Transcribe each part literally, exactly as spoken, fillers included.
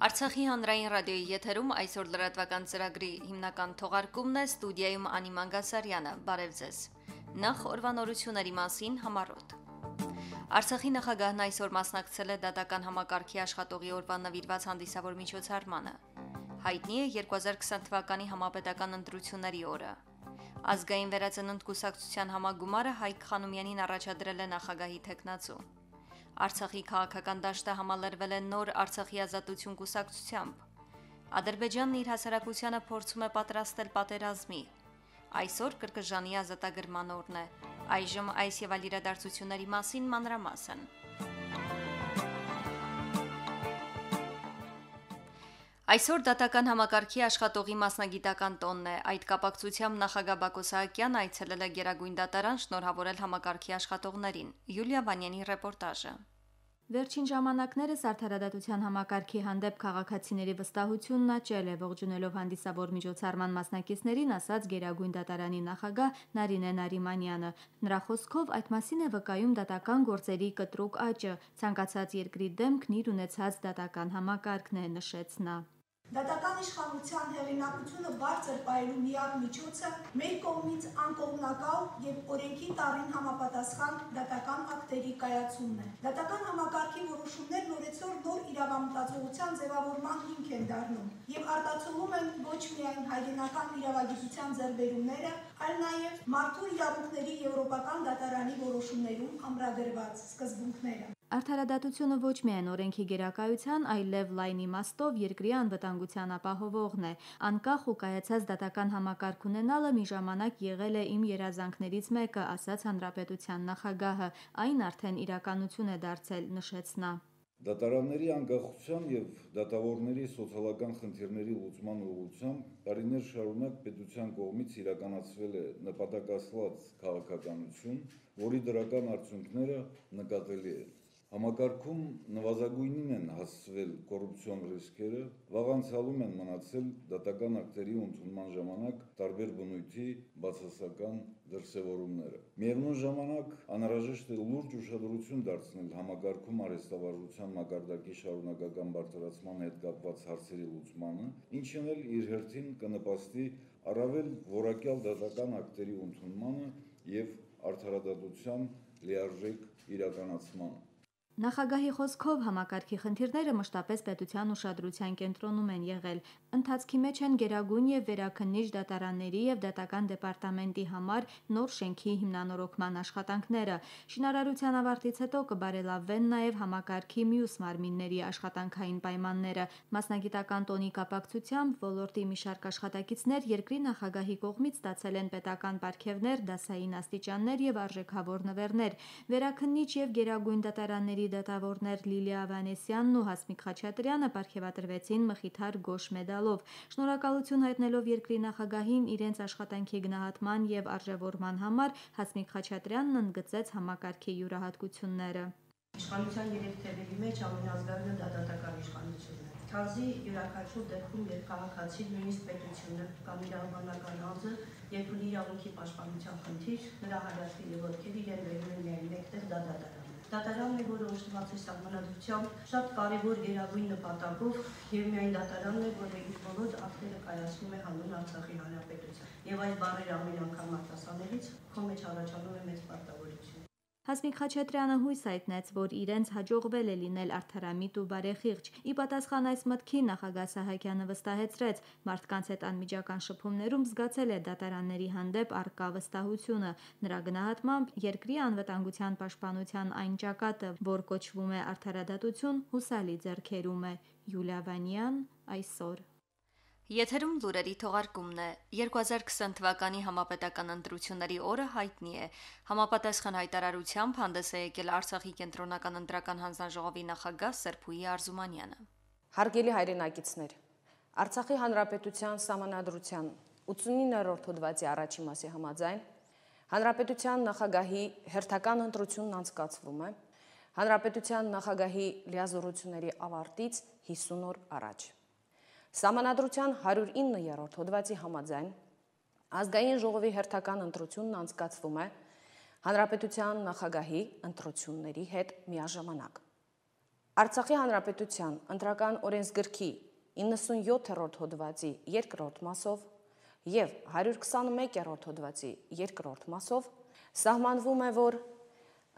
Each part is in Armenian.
Արցախի հանրային ռադիոյի եթերում այսօր լրատվական ծրագրի հիմնական թողարկումն է, ստուդիայում Անի Մանգասարյանը, բարև ձեզ։ Նախ օրվանորությունների մասին համառոտ։ Արցախի նախագահն այսօր մասնակցել է դատական համակարգի աշխատողի օրվա նվիրված հանդիսավոր միջոցառմանը։ Հայտնի է երկու հազար քսան թվականի համապետական ընտրությունների օրը։ Ազգային վերածնունդ կուսակցության համագումարը Հայկ Խանոմյանին առաջադրել է նախագահի թեկնածու։ Արցախի քաղաքական դաշտը համալրվել է նոր Արցախի ազատություն կուսակցությամբ։ Ադրբեջանն իր հասարակությանը փորձում է պատրաստել պատերազմի։ Այսօր կրկժանի ազատագրման օրն է։ Այժմ այս եւ այլ իրադարձությունների մասին մանրամասն։ Այսօր դատական համակարգի աշխատողի մասնագիտական տոնն է։ Այդ կապակցությամբ նախագահ Բակո Սահակյանը այցելել է Գերագույն դատարան շնորհավորել համակարգի աշխատողներին։ Յուլիա Վանյանի ռեպորտաժը։ Վերջին ժամանակներս արդարադատության համակարգի հանդեպ քաղաքացիների վստահությունն աճել է, ողջունելով հանդիսավոր միջոցառման մասնակիցներին, ասաց Գերագույն դատարանի նախագահ Նարինե Նարիմանյանը։ Նրա խոսքով այդ մասին է վկայում դատական գործերի կտրուկ աճը, ցանկացած երկրի դեմքն իր ունեցած դատական համակարգն է, նշեց նա։ Դատական իշխանության հեղինակությունը բարձր պահելու միակ միջոցը մեր կողմից անկողմնակալ եւ օրենքի տառին համապատասխան դատական ակտերի կայացումն է։ Դատական համակարգի որոշումներն օրեցօր նոր իրավամտածողության ձևավորման հիմք են դառնում եւ արտացոլում են ոչ միայն հայրենական իրավագիտության ձեռբերումները, այլ նաեւ մարդու իրավունքների եվրոպական դատարանի որոշումներում ամրագրված սկզբունքները։ Արդարադատությունը ոչ միայն օրենքի գերակայության, այլև լայն իմաստով երկրի անվտանգության ապահովողն է։ Անկախ ու կայացած դատական համակարգ ունենալը մի ժամանակ եղել է իմ երազանքներից մեկը, ասաց հանրապետության նախագահը, այն արդեն իրականություն է դարձել, նշեց նա։ Դատարանների անկախության եւ դատավորների սոցիալական խնդիրների լուծման ուղղությամբ տարիներ շարունակ պետության կողմից իրականացվել է նպատակասլաց քաղաքականություն, որի դրական արդյունքները նկատելի են։ Համակարգում նվազագույնին են հասցվել կոռուպցիոն ռիսկերը, վաղանցյալում են մնացել դատական ակտերի ընդունման ժամանակ տարբեր բնույթի բացասական դրսևորումները։ Միևնույն ժամանակ անհրաժեշտ է լուրջ ուշադրություն դարձնել համակարգում արհեստավարժության մակարդակի շարունակական բարձրացման հետ կապված հարցերի լուծմանը, ինչն էլ իր հերթին կնպաստի առավել որակյալ դատական ակտերի ընդունմանը եւ արդարադատության լիարժեք իրականացմանը։ Նախագահի խոսքով համակարգի խնդիրները մշտապես պետության ուշադրության կենտրոնում են եղել։ Ընթացքի մեջ են Գերագույն եւ Վերաքննիչ դատարանների եւ Դատական դեպարտամենտի համար նոր շենքի հիմնանորոգման աշխատանքները։ Շինարարության ավարտից հետո կբարելավվեն նաեւ համակարգի մյուս մարմինների աշխատանքային պայմանները։ Մասնագիտական տոնի կապակցությամբ ոլորտի մի շարք աշխատակիցներ երկրի նախագահի կողմից ստացել են պետական պարգևներ, դասային աստիճաններ եւ արժեքավոր նվերներ։ Վերաքննիչ եւ Գերագույն դատարանների դատավորներ Լիլիա Ավանեսյանն ու Հասմիկ Խաչատրյանը պարգևատրվեցին Մխիթար Գոշ մեդալով։ Շնորհակալություն հայտնելով երկրի նախագահին իրենց աշխատանքի գնահատման եւ արժեվորման համար, Հասմիկ Խաչատրյանն ընդգծեց համակարգի յուրահատկությունները։ Իշխանության երեք թևերի մեջ ամենազգայունը դա դատական իշխանությունն է։ Քանզի յուրաքանչյուր դեպքում երբ քաղաքացին, նույնիսկ պետությունը կամ իրավաբանական անձը երբ ունի իրավունքի պաշտպանության խնդիր, նրա հայացքի եւ ոտքերի իրեն վերում են միայն մեկտեղ դա դատարան։ Դատարանն է, որը օժտված է սահմանադրությամբ շատ կարևոր գերագույն նպատակով եւ միայն դատարանն է, որը իր բոլոր ակտերը կայացնում է հանուն Արցախի հանրապետության։ Եվ այս բառերը ամեն անգամ արտասանելիս քո մեջ առաջանում է մեծ պարտավորություն։ Հասմիկ Խաչատրյանը հույս հայտնեց, որ իրենց հաջողվել է լինել արդարամիտ ու բարեխիղճ։ Ի պատասխան այս մտքի նախագահ Սահակյանը վստահեցրեց, մարդկանց հետ անմիջական շփումներում զգացել է դատարանների հանդեպ առկա վստահությունը։ Նրա գնահատմամբ երկրի անվտանգության պաշտպանության այն ճակատը, որ կոչվում է արդարադատություն, հուսալի ձեռքերում է։ Յուլիա Վանյան, այսօր։ Եթերում լուրերի թողարկումն է։ երկու հազար քսան թվականի համապետական ընտրությունների օրը հայտնի է։ Համապատասխան հայտարարությամբ հանդես է եկել Արցախի կենտրոնական ընտրական հանձնաժողովի նախագահ Սերփուի Արզումանյանը։ Հարգելի հայրենակիցներ, Արցախի հանրապետության սահմանադրության ութսունիններորդ հոդվածի առաջին մասի համաձայն հանրապետության նախագահի հերթական ընտրությունն անցկացվում է հանրապետության նախագահի լիազորությունների ավարտից հիսուն օր առաջ։ Սահմանադրության հարյուր իններորդ հոդվածի համաձայն ազգային ժողովի հերթական ընտրությունն անցկացվում է հանրապետության նախագահի ընտրությունների հետ միաժամանակ։ Արցախի Հանրապետության ընտրական օրենսգրքի իննսունյոթերորդ հոդվածի երկրորդ մասով և հարյուր քսանմեկերորդ հոդվածի երկրորդ մասով սահմանվում է, որ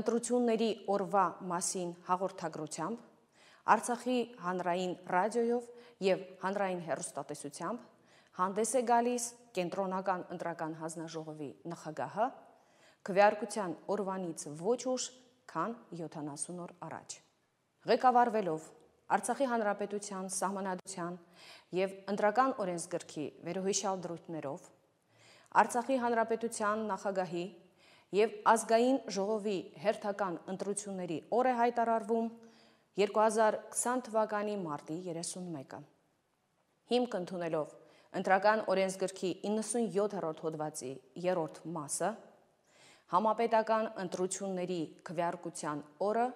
ընտրությունների օրվա մասին հաղորդագրությամբ Արցախի հանրային ռադիոյով և հանրային հեռուստատեսությամբ հանդես է գալիս կենտրոնական ընտրական հանձնաժողովի նախագահը քվեարկության օրվանից ոչ ուշ, քան յոթանասուն օր առաջ։ Ղեկավարվելով Արցախի Հանրապետության Սահմանադրության և ընտրական օրենսգրքի վերոհիշյալ դրույթներով Արցախի Հանրապետության նախագահի և ազգային ժողովի հերթական ընտրությունների օր է հայտարարվում երկու հազար քսան թվականի մարտի երեսունմեկը։ Հիմք ընդունելով ընտրական օրենսգրքի իննսունյոթերորդ հոդվածի երրորդ մասը, համապետական ընտրությունների քվեարկության օրը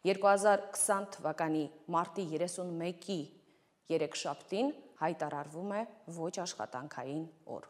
երկու հազար քսան թվականի մարտի երեսունմեկի երեքշաբթին հայտարարվում է ոչ աշխատանքային օր։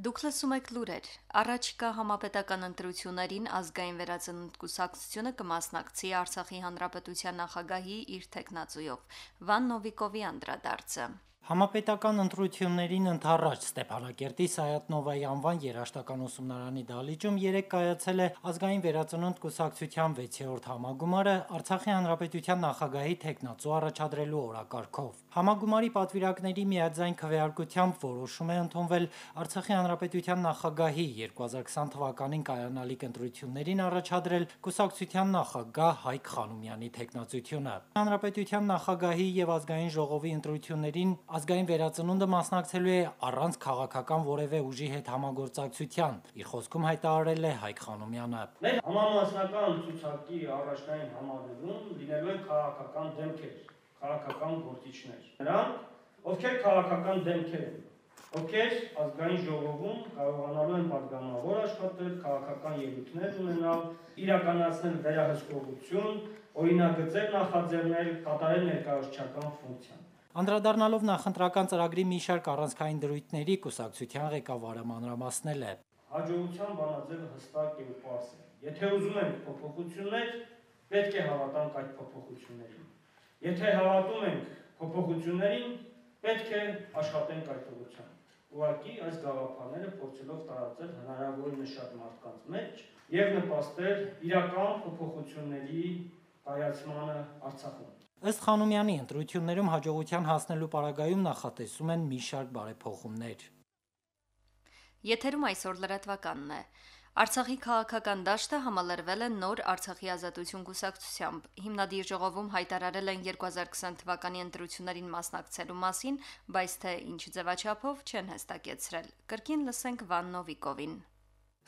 Դուք լսում եք լուրեր։ Առաջիկա համապետական ընտրություններին ազգային վերածնունդ կուսակցությունը կմասնակցի Արցախի Հանրապետության նախագահի իր թեկնածուով։ Վան Նովիկովի անդրադարձը։ Համապետական ընտրություններին ընդառաջ Ստեփանակերտի Սայաթ-Նովայի անվան երաժշտական ուսումնարանի դահլիճում երեկ կայացել է ազգային վերածնունդ կուսակցության վեցերորդ համագումարը Արցախի Հանրապետության նախագահի թեկնածու առաջադրելու օրակարգով։ Համագումարի պատվիրակների միաձայն քվեարկությամբ որոշում է ընդունվել Արցախի Հանրապետության նախագահի երկու հազար քսան թվականին կայանալիք ընտրություններին առաջադրել կուսակցության նախագահ Հայկ Խանոմյանի թեկնածությունը։ Հանրապետության նախագահի եւ ազգային ժողովի ընտրություններին ազգային վերածնունդը մասնակցելու է առանց քաղաքական որևէ ուժի հետ համագործակցության, իր խոսքում հայտարարել է Հայկ Խանոմյանը։ Մեր համամասնական ցուցակի առաջնային համալիրում լինելու են քաղաքական դեմքեր, քաղաքական գործիչներ։ Նրանք, ովքեր քաղաքական դեմքեր են, ովքեր ազգային ժողովում կարողանալու են պատգամավոր աշխատել, քաղաքական ելույթներ ունենալ, իրականացնել վերահսկողություն, օրինագծեր նախաձեռնել, կատարել ներկայացուցչական ֆունկցիան։ Անդրադառնալով նախընտրական ծրագրի մի շարք առանցքային դրույթների կուսակցության ղեկավարը մանրամասնել է։ Հաջողության բանաձևը հստակ է ու պարզ է։ Եթե ուզում ենք փոփոխություններ, պետք է հավատանք այդ փոփոխություններին։ Եթե հավատում ենք փոփոխություններին, պետք է աշխատենք այդ ուղղությամբ։ Ուղղակի այս գաղափարները փորձելով տարածել հնարավորինս շատ մարդկանց մեջ եւ նպաստել իրական փոփոխությունների կայացմանը Արցախում։ Ըստ Խանոմյանի, ընտրություններում հաջողության հասնելու պարագայում նախատեսում են մի շարք բարեփոխումներ։ Եթերում այսօր լրատվականն է։ Արցախի քաղաքական դաշտը համալրվել է նոր Արցախի ազատություն կուսակցությամբ։ Հիմնադիր ժողովում հայտարարել են երկու հազար քսան թվականի ընտրություններին մասնակցելու մասին, բայց թե ինչ ձևաչափով չեն հստակեցրել։ Կրկին լսենք Վան Նովիկովին։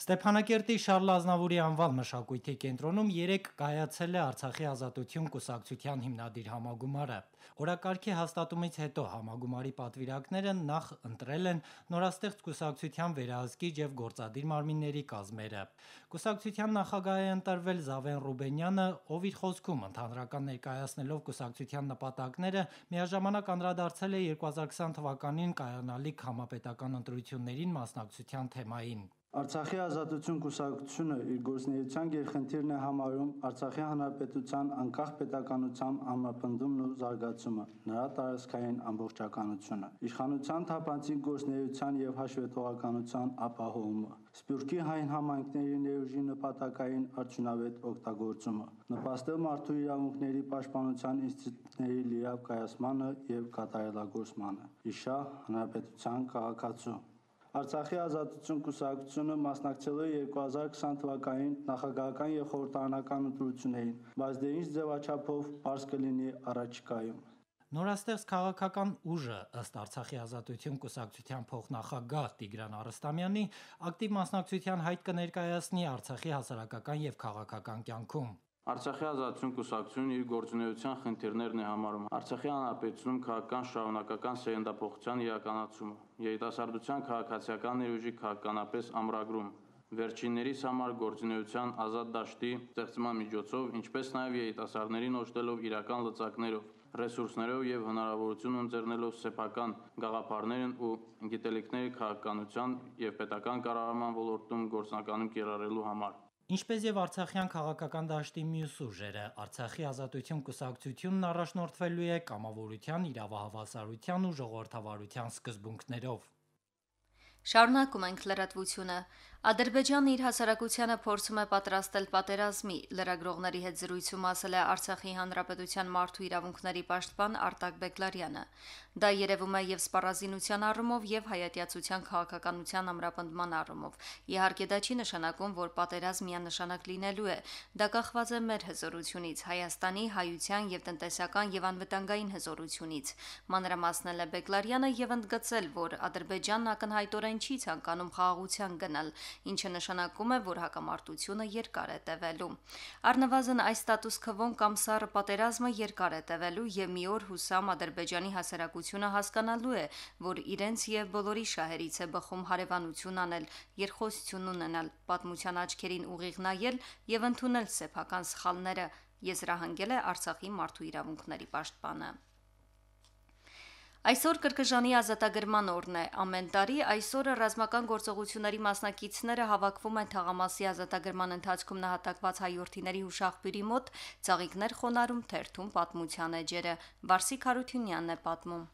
Ստեփանակերտի Շարլ Ազնավուրի անվան մշակույթի կենտրոնում երեկ կայացել է Արցախի ազատություն կուսակցության հիմնադիր համագումարը։ Օրակարգի հաստատումից հետո համագումարի պատվիրակները նախ ընտրել են նորաստեղծ կուսակցության վերահսկիչ եւ գործադիր մարմինների կազմերը։ Կուսակցության նախագահ է ընտրվել Զավեն Ռուբենյանը, ով իր խոսքում ընդհանրական ներկայացնելով կուսակցության նպատակները միաժամանակ անդրադարձել է երկու հազար քսան թվականին կայանալիք համապետական ընտրություններին մասնակցության թեմային։ Արցախի ազատություն կուսակցությունը իր գործունեության գերխնդիրն է համարում Արցախի հանրապետության անկախ պետականության ամրապնդումն ու զարգացումը, նրա տարածքային ամբողջականությունը, իշխանության թափանցիկ գործունեության եւ հաշվետվողականության ապահովումը, Սփյուռքի հայ համայնքների ներուժի նպատակային արդյունավետ օգտագործումը, նպաստել մարդու իրավունքների պաշտպանության ինստիտուտների լիարժեք կայացմանը եւ կատարելագործմանը, իշահ հանրապետության քաղաքացու։ Արցախի ազատություն կուսակցությունը մասնակցել է երկու հազար քսան թվականին նախագահական եւ խորհրդարանական ընտրություններին, բայց դե ինչ ձևաչափով պարզ կլինի առաջիկայում։ Նորաստեղծ քաղաքական ուժը ըստ Արցախի ազատություն կուսակցության փոխնախագահ Տիգրան Արստամյանի ակտիվ մասնակցության հայտ կներկայացնի Արցախի հասարակական եւ քաղաքական կյանքում։ Արցախի ազատություն կուսակցությունն իր գործունեության խնդիրներն է համարում Արցախի հանրապետությունում քաղաքական շարունակական սերնդափոխության իրականացումը, երիտասարդության քաղաքացիական ներուժի քաղաքականապես ամրագրում, վերջիններիս համար գործունեության ազատ դաշտի ստեղծման միջոցով, ինչպես նաև երիտասարդներին օժտելով իրական լծակներով, ռեսուրսներով եւ հնարավորություն ընձեռնելով սեփական գաղափարներն ու գիտելիքների քաղաքականության եւ պետական կառավարման ոլորտում գործնականում կիրառելու համար։ Ինչպես եւ Արցախյան քաղաքական դաշտի մյուս ուժերը, Արցախի ազատություն կուսակցությունն առաջնորդվելու է կամավորության, իրավահավասարության ու ժողովրդավարության սկզբունքներով։ Շարունակում ենք լրատվությունը։ Ադրբեջանն իր հասարակությանը փորձում է պատրաստել պատերազմի, լրագրողների հետ զրույցում ասել է Արցախի հանրապետության մարդու իրավունքների պաշտպան Արտակ Բեգլարյանը։ Դա երևում է եւ սպառազինության առումով եւ հայատյացության քաղաքականության ամրապնդման առումով։ Իհարկե դա չի նշանակում, որ պատերազմ միանշանակ լինելու է։ Դա կախված է մեր հզորությունից, Հայաստանի, հայության եւ տնտեսական եւ անվտանգային հզորությունից։ Մանրամասնել է Բեգլարյանը եւ ընդգծել, որ Ադրբեջանն ակնհայտորեն չի ցանկանում խաղաղության գնալ, ինչը նշանակում է, որ հակամարտությունը երկար է տևելու։ Առնվազն այս ստատուս քվոն կամ սառը պատերազմը երկար է տևելու եւ մի օր հուսամ Ադրբեջանի հասարակությունը հասկանալու է, որ իրենց եւ բոլորի շահերից է բխում հարևանություն անել, երկխոսություն ունենալ, պատմության աչքերին ուղիղ նայել եւ ընդունել սեփական սխալները, եզրահանգել է Արցախի մարդու իրավունքների պաշտպանը։ Այսօր Կրկժանի ազատագրման օրն է։ Ամեն տարի այսօրը ռազմական գործողությունների մասնակիցները հավաքվում են թաղամասի ազատագրման ընթացքում նահատակված հայորդիների հուշաղբյուրի մոտ, ծաղիկներ խոնարհում, թերթում պատմության էջերը։ Վարսիկ Հարությունյանն է պատմում։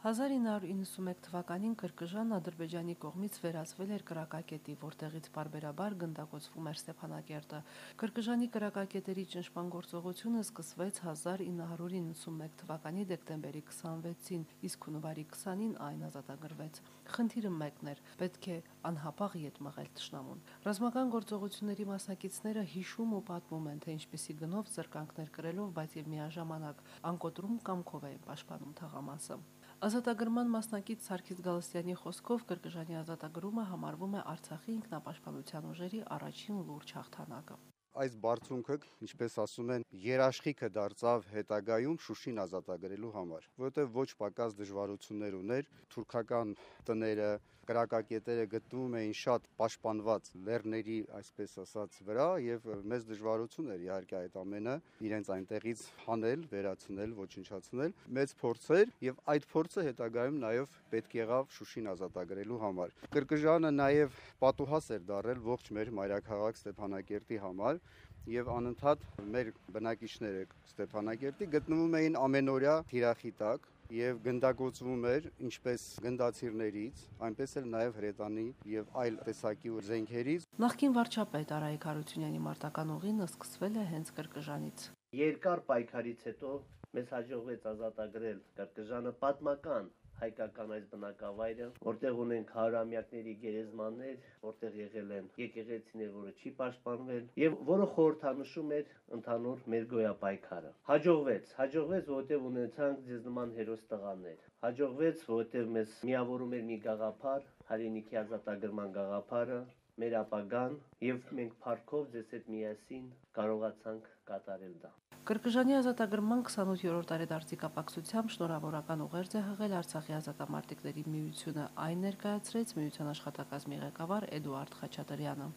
հազար ինը հարյուր իննսունմեկ թվականին Կրկժան Ադրբեջանի կողմից վերածվել էր կրակակետի, որտեղից պարբերաբար գնդակոծվում էր Ստեփանակերտը։ Կրկժանի կրակակետերի ճնշման գործողությունը սկսվեց հազար ինը հարյուր իննսունմեկ թվականի դեկտեմբերի քսանվեցին, իսկ հունվարի քսանին այն ազատագրվեց։ Խնդիրը մեկն էր՝ պետք է անհապաղ ետ մղել թշնամուն։ Ռազմական գործողությունների մասնակիցները հիշում ու պատմում են, թե ինչպիսի գնով զրկանքներ կրելով, բայց եւ միաժամանակ անկոտրում կամքով էին պաշտպանում թաղամասը։ Ազատագրման մասնակից Սարգիս Գալստյանի խոսքով Կրկժանի ազատագրումը համարվում է Արցախի ինքնապաշտպանության ուժերի առաջին լուրջ հաղթանակը։ Այս բարձունքը, ինչպես ասում են, երաշխիքը դարձավ հետագայում Շուշին ազատագրելու համար, որովհետև ոչ պակաս դժվարություններ ուներ, թուրքական տները, կրակակետերը գտնվում էին շատ պաշտպանված լեռների, այսպես ասած, վրա եւ մեծ դժվարություն էր իհարկե այդ ամենը իրենց այնտեղից հանել, վերացնել, ոչնչացնել, մեծ փորձ էր եւ այդ փորձը հետագայում նաեւ պետք եղավ Շուշին ազատագրելու համար։ Կրկժանը նաեւ պատուհաս էր դարել ողջ մեր մայրաքաղաք Ստեփանակերտի համար եւ անընդհատ մեր բնակիչները Ստեփանակերտի գտնվում էին ամենօրյա թիրախի տակ եւ գնդակոծվում էր ինչպես գնդացիրներից, այնպես էլ նաեւ հրետանի եւ այլ տեսակի զենքերից։ Նախկին վարչապետ Արայիկ Հարությունյանի մարտական ուղին սկսվել է հենց Կրկժանից։ Երկար պայքարից հետո մեզ հաջողվեց ազատագրել Կրկժանը, պատմական հայկական այս բնակավայրը, որտեղ ունենք հարյուրամյակների գերեզմաններ, որտեղ եղել են եկեղեցիներ, որը չի պաշտպանվել եւ որը խորհրդանշում էր ընդհանուր մեր գոյապայքարը։ Հաջողվեց, հաջողվեց, որտեղ ունեցանք ձեզ նման հերոս տղաներ։ Հաջողվեց, որտեղ մեզ միավորում էր մի գաղափար, հայրենիքի ազատագրման գաղափարը, մեր ապագան եւ մենք փառքով ձեզ հետ միասին կարողացանք կատարել դա։ Կրկժանի ազատագրման քսանութերորդ տարեդարձի կապակցությամբ շնորհավորական ուղերձ է հղել Արցախի ազատամարտիկների միությունը, այն ներկայացրեց միության աշխատակազմի ղեկավար Էդուարդ Խաչատրյանը։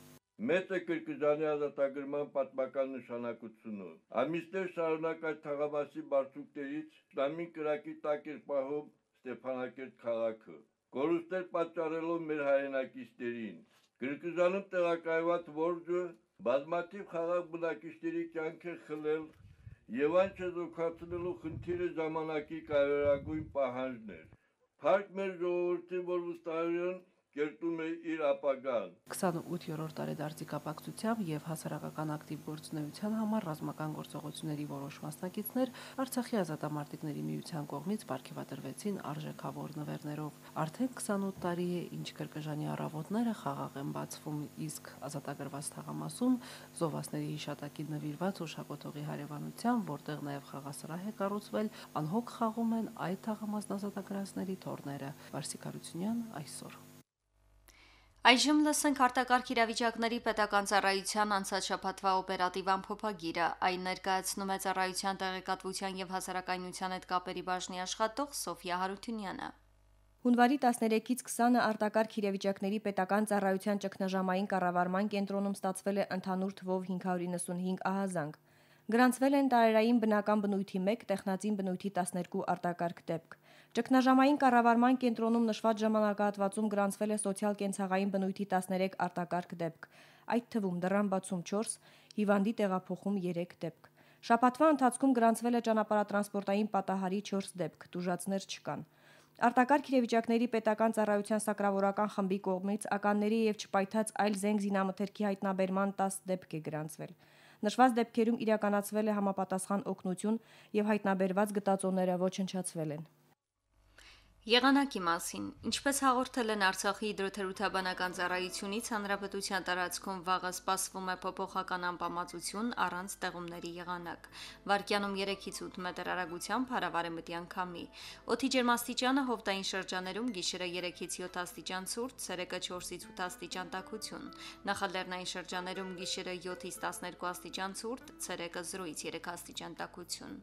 Մեծ է Կրկժանի ազատագրման պատմական նշանակությունը։ Ամիսներ շարունակ այդ թաղամասի բարձունքներից Իսլամի կրակի տակ էր պահում Ստեփանակերտ քաղաքը, կորուստներ պատճառելով մեր հայրենակիցներին։ Կրկժանում տեղակայված որջը բազմաթիվ խաղաղ բնակիչների կյանք է խլել եւ այն չեզոքացնելու խնդիրը ժամանակի կարևորագույն պահանջն էր։ Փառք մեր ժողովրդին, որ վստահորեն կերտում է իր ապագան։ քսանութերորդ տարեդարձի կապակցությամբ եւ հասարակական ակտիվ գործունեության համար ռազմական գործողությունների որոշ մասնակիցներ Արցախի ազատամարտիկների միության կողմից պարգևատրվեցին արժեքավոր նվերներով։ Արդեն քսանութ տարի է, ինչ Կրկժանի առավոտները խաղաղ են բացվում, իսկ ազատագրված թաղամասում զովասների հիշատակին նվիրված հուշակոթողի հարևանությամբ, որտեղ նաեւ խաղասրահ է կառուցվել, անհոգ խաղում են այդ թաղամասն ազատագրածների թոռները։ Վարսիկ Հարությունյան այսօր։ Այժմ լսենք արտակարգ իրավիճակների պետական ծառայության անցած շաբաթվա օպերատիվ ամփոփագիրը։ Այն ներկայացնում է ծառայության տեղեկատվության եւ հասարակայնության հետ կապերի բաժնի աշխատող Սոֆիա Հարությունյանը։ Հունվարի տասներեքից քսանը արտակարգ իրավիճակների պետական ծառայության ճգնաժամային կառավարման կենտրոնում ստացվել է ընդհանուր թվով հինգ հարյուր իննսունհինգ ահազանգ։ Գրանցվել են տարերային բնական բնույթի մեկ, տեխնածին բնույթի տասներկու արտակարգ դեպք։ Ճգնաժամային կառավարման կենտրոնում նշված ժամանակահատվածում գրանցվել է սոցիալ-կենցաղային բնույթի տասներեք արտակարգ դեպք։ այդ թվում դռան բացում չորս, հիվանդի տեղափոխում երեք դեպք։ Շաբաթվա ընթացքում գրանցվել է ճանապարհատրանսպորտային պատահարի չորս դեպք, տուժածներ չկան։ Արտակարգ իրավիճակների պետական ծառայության սակրավորական խմբի կողմից ականների եւ չպայթած այլ զենք զինամթերքի հայտնաբերման տասը դեպք է գրանցվել։ Նշված դեպքերում իրականացվել է համապատասխան օգնություն եւ հայտնաբերված գտածոները ոչնչացվել են։ Եղանակի մասին, ինչպես հաղորդել են Արցախի հիդրոթերապևտաբանական ծառայությունից, հանրապետության տարածքում վաղը սպասվում է փոփոխական անբավարարություն առանց ձեղումների եղանակ։ Վարկյանում երեքից ութ մետր արագությամբ հարավարեմտյան քամի։ Օդի ջերմաստիճանը հովտային շրջաներում գիշերը երեքից յոթ աստիճան ցուրտ, ցերեկը չորսից ութ աստիճան տաքություն։ Նախալեռնային շրջաներում գիշերը յոթից տասներկու աստիճան ցուրտ, ցերեկը զրոյից երեք աստիճան տաքություն։